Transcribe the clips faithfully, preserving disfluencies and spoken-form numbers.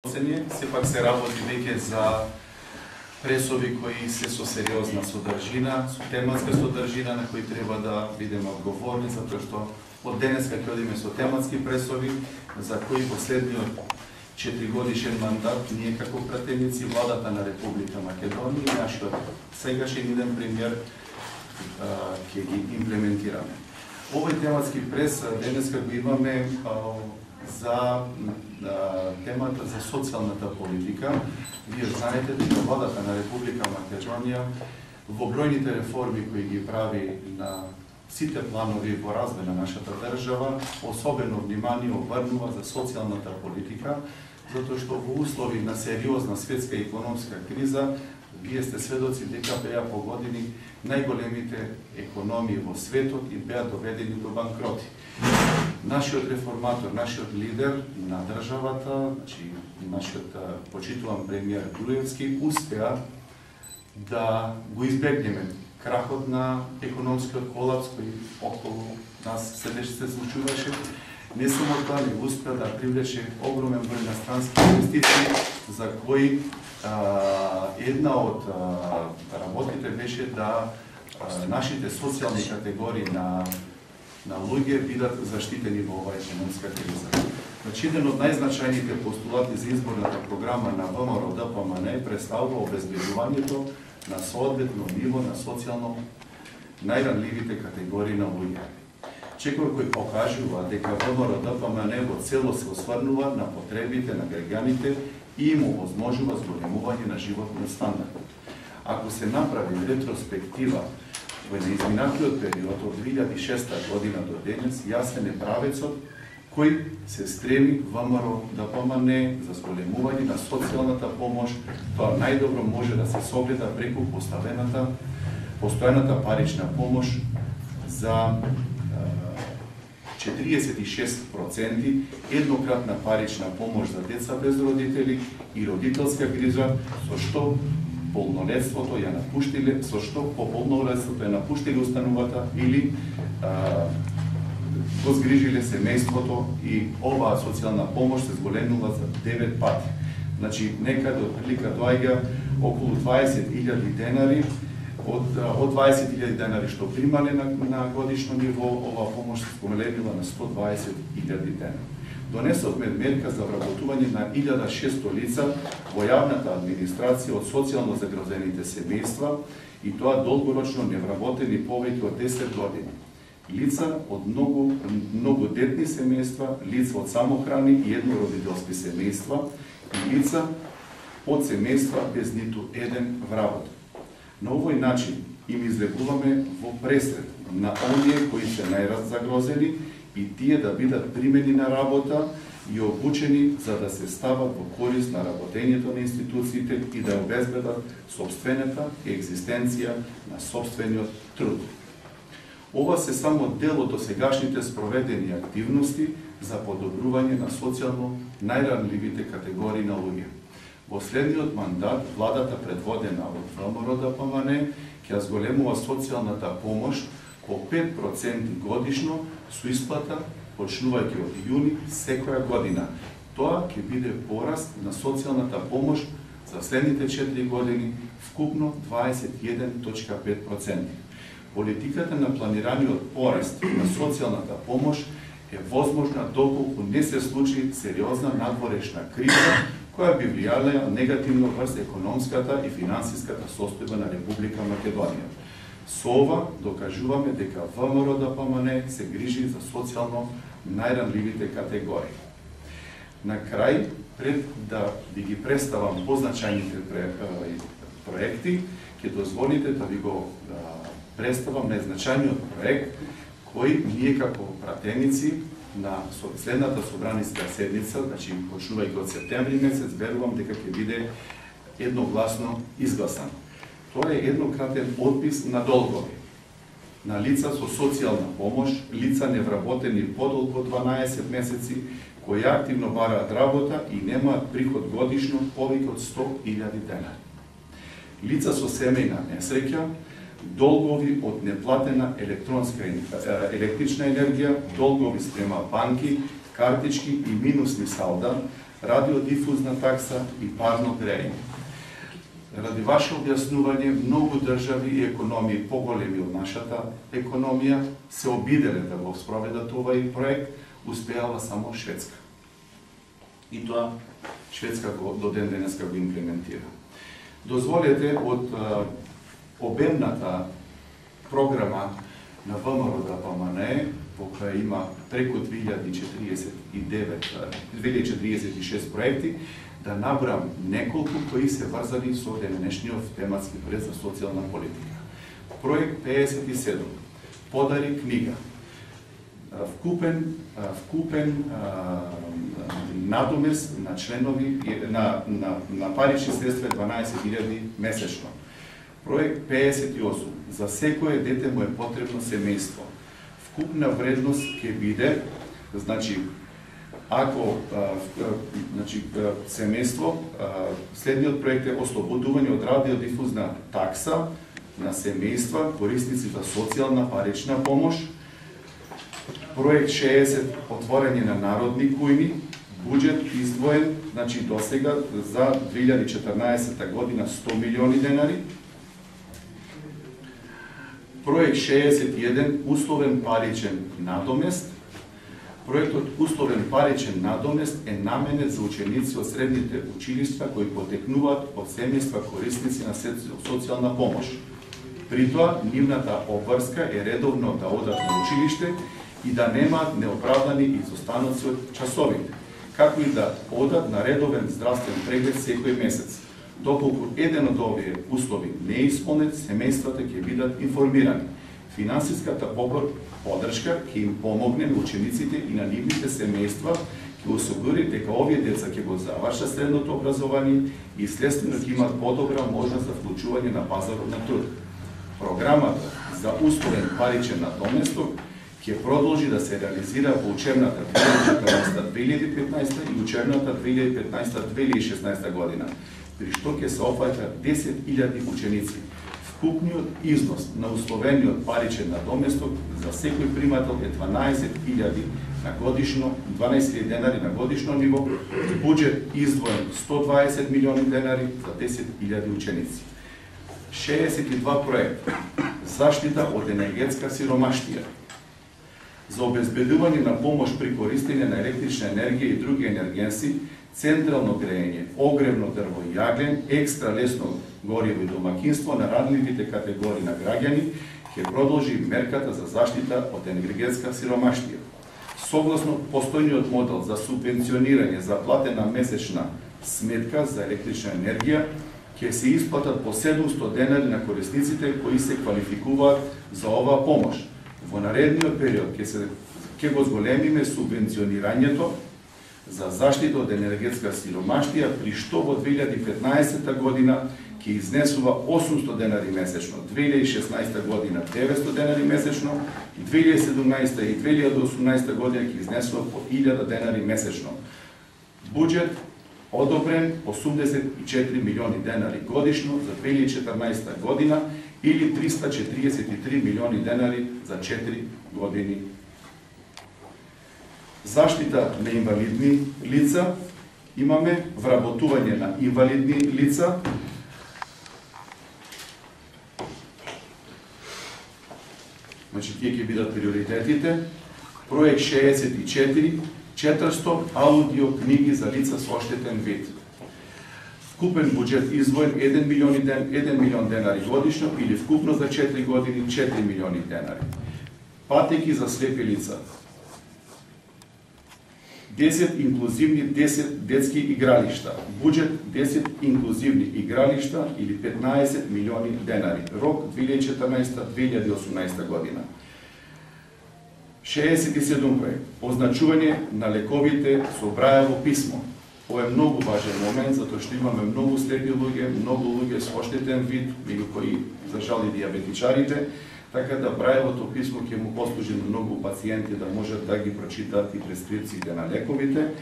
Сепак се работи веќе за пресови кои се со сериозна содржина, со тематска содржина на кои треба да бидеме одговорни, затоа што од денеска ќе одиме со тематски пресови, за кои последниот четиригодишен мандат ние како пратеници владата на Република Македонија и нашиот сегашен иден премиер ќе ги имплементираме. Овој тематски прес денеска го имаме за темата за социјалната политика. Вие знаете дека владата на Република Македонија во бројните реформи кои ги прави на сите планови во развој на нашата држава, особено внимание обрнува за социјалната политика, затоа што во услови на сериозна светска и економска криза, вие сте сведоци дека беа погодени најголемите економии во светот и беа доведени до банкроти. Нашиот реформатор, нашиот лидер на државата, значи нашиот почитуван премиер Груевски, успеа да го избегнеме крахот на економскиот колапс кој околу нас седеше се случуваше. Не само тоа, не успеа да привлече огромен број инострански инвестиции, за кои а, една од а, работите беше да а, нашите социјални категории на на луѓе бидат заштитени во оваа економска криза. Значи, еден од најзначајните постулати за изборната програма на ВМРО-ДПМН представува обезбедувањето на соодветно ниво на социјално најранливите категории на луѓе. Чекор кој покажува дека ВМРО-ДПМН во цело се осврнува на потребите на граѓаните и им овозможува зголемување на животниот стандард. Ако се направи ретроспектива во изминатиот период од две илјади и шеста година до денес, јасен е правецот кој се стреми ВМРО-ДПМН за зголемување на социјалната помош. Тоа најдобро може да се согледа преку поставената постојаната парична помош за четириесет и шест проценти, еднократна парична помош за деца без родители и родителска грижа, со што полнолетството ја напуштиле, со што по полнолетството ја напуштиле установата или а, го згрижиле семејството и оваа социјална помош се зголемила за девет пати. Значи, некаде од прилика доаѓа околу дваесет илјади денари, од, од дваесет илјади денари што примале на, на годишно ниво, оваа помош се зголемила на сто дваесет илјади денари. Донесовме мерка за вработување на илјада и шесто лица во јавната администрација од социјално загрозените семејства и тоа долгорочно невработени повеќе од десет години. Лица од многу, многу детни семејства, лица од самохрани и еднородителски семејства и лица од семејства без ниту еден вработен. На овој начин им излегуваме во пресред на оние кои се најраззагрозени и тие да бидат примени на работа и обучени за да се стават во корист на работењето на институциите и да обезбедат собствената екзистенција на собствениот труд. Ова се само дел од досегашните спроведени активности за подобрување на социјално најранливите категории на луѓе. Во следниот мандат, владата предводена од ВМРО-ДПМН ќе зголемува социјалната помош по пет проценти годишно со исплата почнувајќи од јуни секоја година. Тоа ќе биде пораст на социјалната помош за следните четири години вкупно дваесет и еден точка пет проценти. Политиката на планираниот пораст на социјалната помош е возможна доколку не се случи сериозна надворешна криза која би влијала негативно врз економската и финансиската состојба на Република Македонија. Со ова докажуваме дека ВМРО-ДПМН се грижи за социјално најранливите категории. На крај, пред да ви ги представам позначајните проекти, ќе дозволите да ви го представам најзначајниот проект кој ние како пратеници на следната собраниска седница, значи почнувајќи од септември месец, верувам дека ќе биде едногласно изгласан. Тоа е еднократен отпис на долгови на лица со социјална помош, лица невработени подолго од дванаесет месеци, кои активно бараат работа и немаат приход годишно повеќе од сто илјади денари. Лица со семејна несреќа, долгови од неплатена електронска електрична енергија, долгови спрема банки, картички и минусни салда, радиодифузна такса и парно грејење. Ради ваше објаснување, многу држави и економии поголеми од нашата економија се обиделе да го спроведат овај проект, успеала само Шведска. И тоа Шведска го, до ден денеска го имплементира. Дозволете од а, обемната програма на ВМРО-ДПМНЕ, во која има преку две илјади четириесет и девет, две илјади четириесет и шест проекти, да набрам неколку кои се врзани со денешниот тематски проект за социјална политика. Проект пеесет и седум. Подари книга. Вкупен, вкупен а, надомес на членови на, на, на парични средства дванаесет илјади месечно. Проект пеесет и осум. За секое дете му е потребно семејство. Вкупна вредност ќе биде, значи, ако а, значи, семејство, а, следниот проект е ослободување од радиодифузна такса на семејства, корисници за социјална парична помош. Проект шеесет, отворање на народни кујни, буџет издвоен, значи досега за две илјади четрнаесета година сто милиони денари. Проект шеесет и еден, условен паричен надомест. Проектот условен паричен надомест е наменет за ученици од средните училишта кои потекнуваат од семејства корисници на социјална помош. При тоа, нивната обврска е редовно да одат на училиште и да немаат неоправдани изостаноци од часовите, како и да одат на редовен здравствен преглед секој месец. Доколку еден од овие услови не е исполнет, семејствата ќе бидат информирани. Финансиската поддршка ќе им помогне на учениците и на нивните семејства, ќе осигури дека овие деца ќе го завршат средното образование и следствено ќе имат подобра можност за вклучување на пазарот на труд. Програмата за условен паричен надоместок ќе продолжи да се реализира во учебната две илјади и четрнаесета - две илјади и петнаесета и учебната две илјади и петнаесета - две илјади и шеснаесета година, при што ќе се опфаќа десет илјади ученици. Вкупниот износ на условениот паричен надоместок за секој примател е дванаесет илјади на годишно, дванаесет илјади денари на годишно ниво, буџет издвоен сто дваесет милиони денари за десет илјади ученици. шеесет и два проекта. Заштита од енергетска сиромаштија. За обезбедување на помош при користење на електрична енергија и други енергенси, централно грејење, огревно дрво и јаглен, екстра лесно гориво и домакинство на радливите категории на граѓани, ќе продолжи мерката за заштита од енергетска сиромаштија. Согласно постојниот модел за субвенционирање за платена месечна сметка за електрична енергија, ќе се исплатат по седумсто денари на корисниците кои се квалификуваат за оваа помош. Во наредниот период ќе се ќе го зголемиме субвенционирањето за заштита од енергетска сиромаштија, при што во две илјади и петнаесета година ќе изнесува осумсто денари месечно, две илјади и шеснаесета година деветсто денари месечно и две илјади и седумнаесета и две илјади и осумнаесета година ќе изнесува по илјада денари месечно. Буџет одобрен осумдесет и четири милиони денари годишно за две илјади и четрнаесета година или триста четириесет и три милиони денари за четири години. Заштита на инвалидни лица, имаме вработување на инвалидни лица, значи тие ќе бидат приоритетите. Проект шеесет и четири, четиристо аудио книги за лица со оштетен вид. Вкупен буџет издвоен еден милион денари годишно или вкупно за четири години четири милиони денари. Патеки за слепи лица. десет инклузивни десет детски игралишта. Буџет десет инклузивни игралишта или петнаесет милиони денари. Рок две илјади и четрнаесета - две илјади и осумнаесета година. шеесет и седум проект. Означување на лековите со Брајево писмо. Ова е многу важен момент, затоа што имаме многу слепи луѓе, многу луѓе со оштетен вид, меѓу кои, за жал, и диабетичарите, така да Брајевото писмо ќе му послужи на многу пациенти да можат да ги прочитат и прескрипциите на лековите.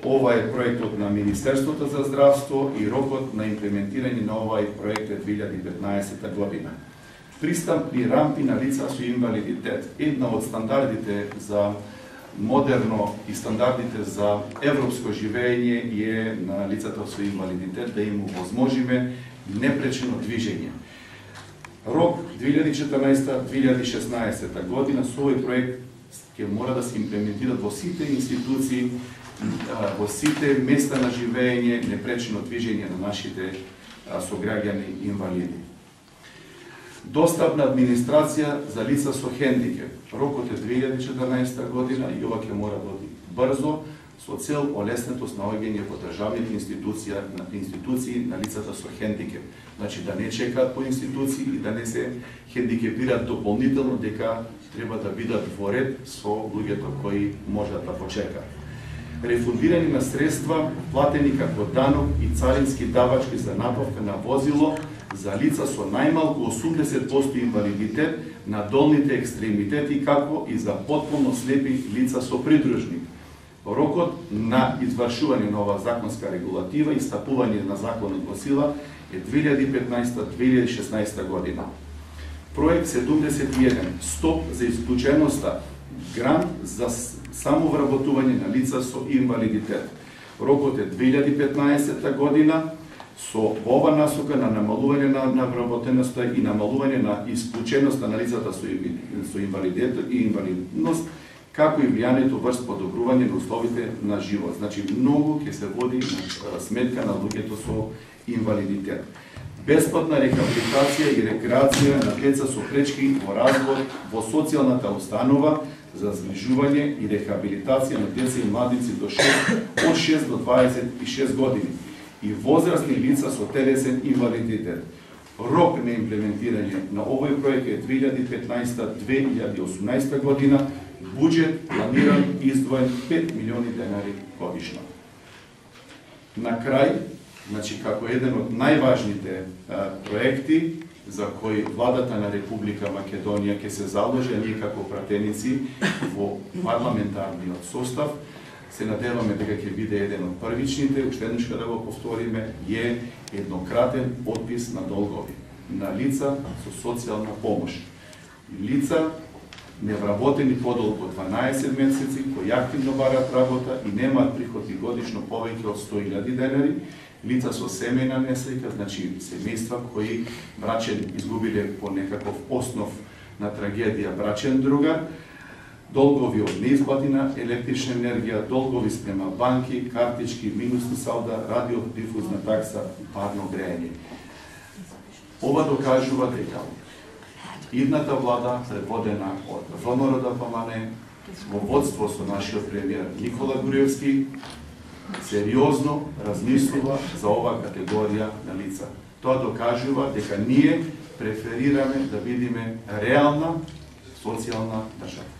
Ова е проектот на Министерството за здравство и рокот на имплементирање на овај проект е две илјади и петнаесета година. Пристапни рампи на лица со инвалидитет. Една од стандардите за модерно и стандардите за европско живење е на лицата со инвалидитет да им овозможиме непречено движење. Рок две илјади и четрнаесета - две илјади и шеснаесета година со овој проект ќе мора да се имплементират во сите институции, во сите места на живење, непречено движење на нашите сограѓани инвалиди. Достапна администрација за лица со хендикеп. Рокот е две илјади и четрнаесета година и ова ќе мора да оди брзо со цел олеснетост наоѓање во државните институции на институции на лицата со хендикеп. Значи да не чекаат по институции и да не се хендикепираат дополнително дека треба да бидат во ред со луѓето кои можат да почекаат. Рефундирање на средства платени како данок и царински давачки за набавка на возило за лица со најмалку осумдесет проценти инвалидитет на долните екстремитети, како и за потполно слепи лица со придружник. Рокот на извршување на оваа законска регулатива и стапување на законот во сила е две илјади и петнаесета - две илјади и шеснаесета година. Проект седумдесет и еден Стоп за исклученоста, грант за самовработување на лица со инвалидитет. Рокот е две илјади и петнаесета година со ова насока на намалување на навработеноста и намалување на исклученоста на лицата со инвалидитет и инвалидност, како и влијанието врз подобрување на условите на живот. Значи, многу ќе се води на сметка на луѓето со инвалидитет. Бесплатна рехабилитација и рекреација на деца со пречки во развој во социјалната установа за згрижување и рехабилитација на деца и младици до шест, од шест до дваесет и шест години и возрастни лица со телесен инвалидитет. Рок на имплементирање на овој проект е две илјади и петнаесета - две илјади и осумнаесета година, буџет планиран и издвоен пет милиони денари годишно. На крај, значи како еден од најважните а, проекти за кои владата на Република Македонија ќе се заложи, а ние како пратеници во парламентарниот состав, се надеваме дека ќе биде еден од првичните, уште еднаш да го повториме, е еднократен отпис на долгови на лица со социјална помош. Лица невработени подолго од дванаесет месеци, кои активно бараат работа и немаат приходи годишно повеќе од сто илјади денари, лица со семејна несреќа, значи семејства кои брачен изгубиле по некаков основ на трагедија брачен другар, долгови од неисплатена електрична енергија, долгови спрема банки, картички, минусни салда, радиодифузна такса и парно грејање. Ова докажува дека идната влада, предводена од ВМРО ДПМН, во водство со нашиот премиер Никола Груевски, сериозно размислува за оваа категорија на лица. Тоа докажува дека ние преферираме да видиме реална социјална држава.